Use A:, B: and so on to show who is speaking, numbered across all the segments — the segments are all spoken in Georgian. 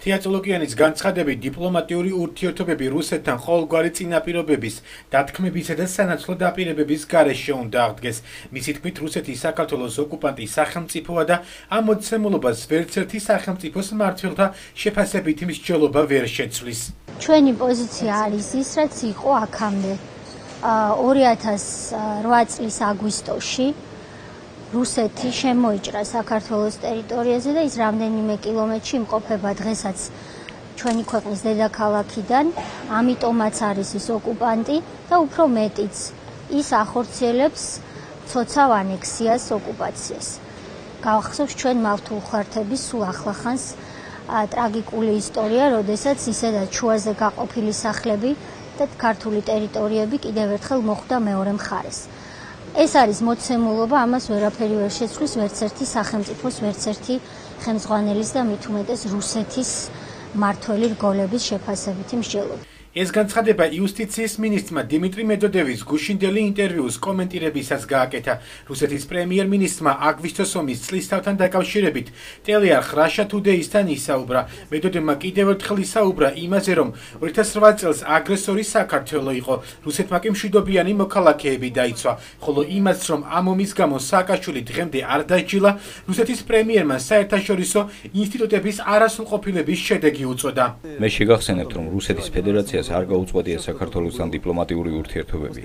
A: თეატოლოგიანის განცხადებით დიპლომატიური ურთიერთობები რუსეთთან ყოველგვარი წინაპირობების, დათქმებისა და სანაცვლო დაპირებების გარეშე უნდა აღდგეს. მისი თქმით, რუსეთი საქართველოს ოკუპანტი სახელმწიფოა და ამ მოცემულობას ვერც ერთი სახელმწიფოს მმართველთა შეფასებითი მსჯელობა ვერ შეცვლის.
B: ჩვენი პოზიცია არის ის, რაც იყო აქამდე. 2008 წლის აგვისტოში რუსეთი შემოიჭრა საქართველოს ტერიტორიაზე და ის რამდენიმე კილომეტრში იმყოფება დღესაც ჩვენი ქვეყნის დედაქალაქიდან, ამიტომაც არის ის ოკუპანტი და უფრო მეტიც ის ახორციელებს ცოცავ ანექსიას, ოკუპაციას. გავახსოვს ჩვენ მავთულხართების სულ ახლახანს ტრაგიკული ისტორია, როდესაც ისედაც შუაზე გაყოფილი სახლები და ქართული ტერიტორიები კიდევ ერთხელ მოხვდა მეორე მხარეს. ეს არის მოცემულობა, ამას ვერაფერი ვერ შეცვლის ვერც ერთი სახელმწიფოს, ვერც ერთი ხელმძღვანელის და მით უმეტეს რუსეთის მმართველი რგოლების შეფასებითი მსჯელობა.
A: ეს განცხადება იუსტიციის მინისტრმა დიმიტრი მედოდევის გუშინდელი ინტერვიუს კომენტირებისას გააკეთა. რუსეთის პრემიერ-მინისტრმა აგვისტოს ომის წლისთავთან დაკავშირებით ტელეარხ Russia Today-სთან ისაუბრა. მედოდევმა კიდევ ერთხელ ისაუბრა იმაზე, რომ 2008 წელს აგრესორი საქართველო იყო. რუსეთმა კი მშვიდობიანი მოქალაქეები დაიცვა, ხოლო იმას, რომ ამ ომის გამო სააკაშვილი დღემდე არ დასჯილა, რუსეთის პრემიერმა საერთაშორისო ინსტიტუტების არასრულყოფილების შედეგი უწოდა.
C: მე შეგახსენებთ, რომ რუსეთის ფედერაცია არ გაუწყვეტია საქართველოსთან დიპლომატიური ურთიერთობები.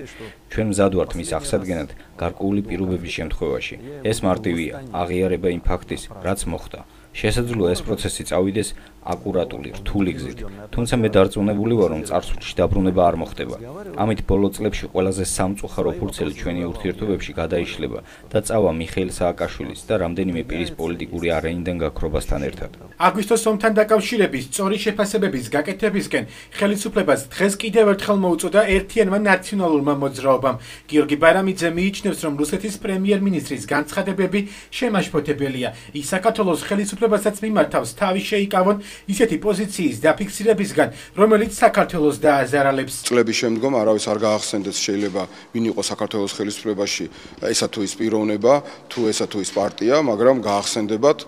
C: ჩვენ მზად ვართ მის აღსადგენად გარკვეული პირობების შემთხვევაში. ეს მარტივია, აღიარება იმ ფაქტის, რაც მოხდა. შესაძლოა ეს პროცესი წავიდეს აკურატული, რთული გზით, თუმცა მე დარწმუნებული ვარ, რომ წარსულში დაბრუნება არ მოხდება. ამით ბოლო წლებში ყველაზე სამწუხარო ფურცელი ჩვენი ურთიერთობებში გადაიშლება და წავა მიხეილ სააკაშვილის და რამდენიმე პირის პოლიტიკური არეინიდან გაქრობასთან ერთად.
A: აგვისტოს ომთან დაკავშირების სწორი შეფასებების გაკეთებისკენ ხელისუფლებას დღეს კიდევ ერთხელ მოუწოდა ერთიანმა ნაციონალურმა მოძრაობამ. გიორგი ბარამიძე მიიჩნევს, რომ რუსეთის პრემიერ-მინისტრის განცხადებები შემაშფოთებელია. ის საქართველოს ხელისუფლებასაც მიმართავს თავი შეიკავონ ისეთი პოზიციის დაფიქსირებისგან, რომელიც საქართველოს დააზარალებს.
D: წლების შემდგომ არავის არ გაახსენდეს შეიძლება ვინ იყო საქართველოს ხელისუფლებაში, ესა თუ ის პიროვნება, თუ ესა თუ ის პარტია, მაგრამ გაახსენდებათ,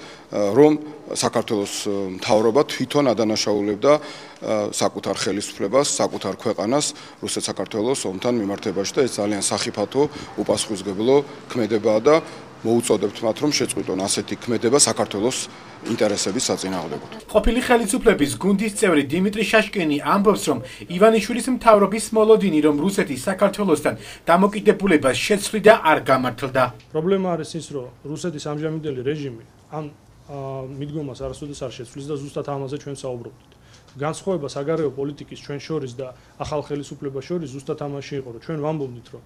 D: რომ საქართველოს მთავრობა თვითონ ადანაშაულებდა საკუთარ ხელისუფლებას, საკუთარ ქვეყანას რუსეთ-საქართველოს ომთან მიმართებაში და ეს ძალიან სახიფათო, უპასუხისმგებლო ქმედებაა და მოუწოდებთ მათ, რომ შეწყვიტონ ასეთი ქმედება საქართველოს ინტერესების საწინააღმდეგოდ.
A: ყოფილი ხელისუფლების გუნდის წევრი დიმიტრი შაშკინი ამბობს, რომ ივანიშვილის მთავრობის მოლოდინი, რომ რუსეთი საქართველოსთან დამოკიდებულებას შეცვლიდა, არ გამართლდა.
E: პრობლემა არის ის, რომ რუსეთის ამჟამინდელი რეჟიმი ამ მიდგომას არასოდეს არ შეცვლის და ზუსტად ამაზე ჩვენ საუბრობთ. განსხვავება საგარეო პოლიტიკის ჩვენ შორის და ახალ ხელისუფლებას შორის ზუსტად ამაში იყო, რომ ჩვენ ვამბობდით, რომ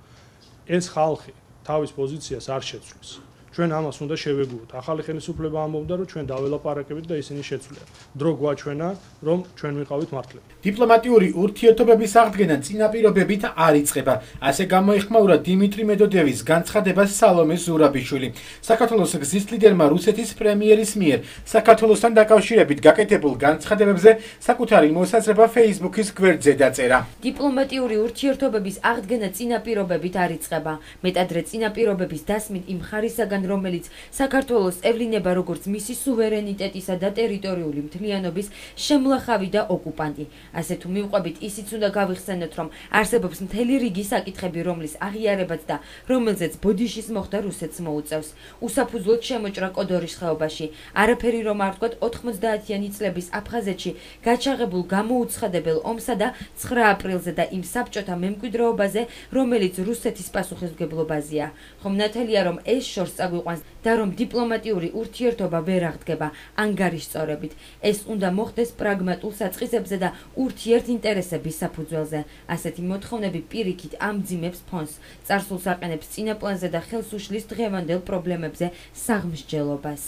E: ეს ხალხი თავის პოზიციას არ შეცვლის. ჩვენ ამას უნდა შევეგუოთ. ახალი ხელისუფლება ამბობდა, რომ ჩვენ დაველაპარაკებით და ისინი შეცვლიან. დრო გვაჩვენა, რომ ჩვენ ვიყავით მართლები.
A: დიპლომატიური ურთიერთობების აღდგენა წინაპირობებით არ იწყება. ასე გამოიხმაურა დიმიტრი მედოდევის განცხადება სალომე ზურაბიშვილი. საქართველოს გზის ლიდერმა რუსეთის პრემიერის მიერ საქართველოსთან დაკავშირებით გაკეთებულ განცხადებებზე საკუთარი მოსაზრება Facebook-ის გვერდზე დაწერა.
F: დიპლომატიური ურთიერთობების აღდგენა წინაპირობებით არ იწყება. მეტადრე წინაპირობების დასმით იმ ხარისაგან, რომელიც საქართველოს ევლინება როგორც მისი სუვერენიტეტისა და ტერიტორიული მთლიანობის შემლახავი და ოკუპანტი. ასე თუ მივყვებით, ისიც უნდა გავიხსენოთ, რომ არსებობს მთელი რიგი საკითხები, რომლის აღიარებაც და რომელზეც ბოდიშის მოხდა რუსეთს მოუწევს. უსაფუძვლოდ შემოჭრა კოდორის ხეობაში, არაფერი რომ არ ვთქვათ 90-იანი წლების აფხაზეთში გაჩაღებულ გამოუცხადებელ ომსა და 9 აპრილზე და იმ საბჭოთა მემკვიდრეობაზე, რომელიც რუსეთის პასუხისმგებლობაზეა. ხომ ნათელია, რომ ეს შორს წაგვიყვანს და რომ დიპლომატიური ურთიერთობა ვერ აღდგება ანგარიშწორებით. ეს უნდა მოხდეს პრაგმატულ საწყისებზე და ურთიერთ ინტერესების საფუძველზე. ასეთი მოთხოვნები პირიქით ამძიმებს ფონს, წარსულს აყენებს წინა პლანზე და ხელს უშლის დღევანდელ პრობლემებზე საღმსჯელობას.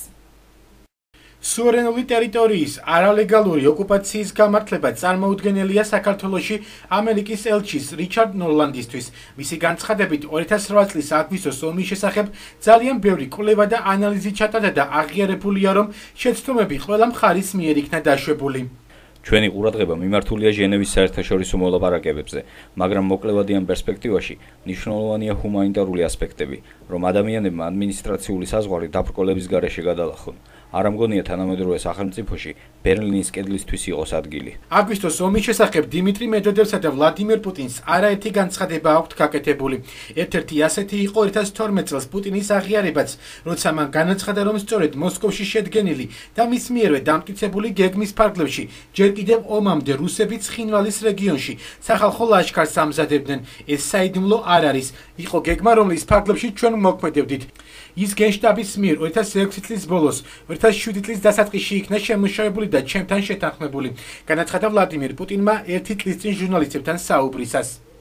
A: სუვერენული ტერიტორიის არალეგალური ოკუპაციის გამართლება წარმოუდგენელია საქართველოში ამერიკის ელჩის რიჩარდ ნოლანდისთვის. მისი განცხადებით 2008 წლის აგვისტოს ომის შესახებ ძალიან ბევრი კვლევა და ანალიზი ჩატარდა და აღიარებულია, რომ შეცდომები ყველა მხარის მიერ იქნა დაშვებული.
C: ჩვენი ყურადღება მიმართულია ჟენევის საერთაშორისო მოლაპარაკებებზე, მაგრამ მოკლევადიან პერსპექტივაში მნიშვნელოვანია ჰუმანიტარული ასპექტები, რომ ადამიანებმა ადმინისტრაციული საზღვარი დაბრკოლების გარეშე გადალახონ. არ ამგონია თანამედროვე სახელმწიფოში ბერლინის კედლისთვის იყოს ადგილი.
A: აგვისტოს ომის შესახებ დიმიტრი მედვედევსა და ვლადიმერ პუტინს არაერთი განცხადება აქვთ გაკეთებული. ერთ-ერთი ასეთი იყო 2012 წელს პუტინის აღიარებაც, როცა მან განაცხადა, რომ სწორედ მოსკოვში შედგენილი და მის მიერვე დამტკიცებული გეგმის ფარგლებში ჯერ კიდევ ომამდე რუსები ცხინვალის რეგიონში სახალხო ლაშქარს ამზადებდნენ. ეს საიდუმლო არ არის. იყო გეგმა, რომლის ფარგლებში ჩვენ მოქმედებდით. ის გენშტაბის მიერ 2006 წლის ბოლოს 2007 წლის დასაწყისში იქნა შემუშავებული და ჩემთან შეთანხმებული. განაცხადა ვლადიმერ პუტინმა ერთი წლის წინ ჟურნალისტებთან საუბრისას.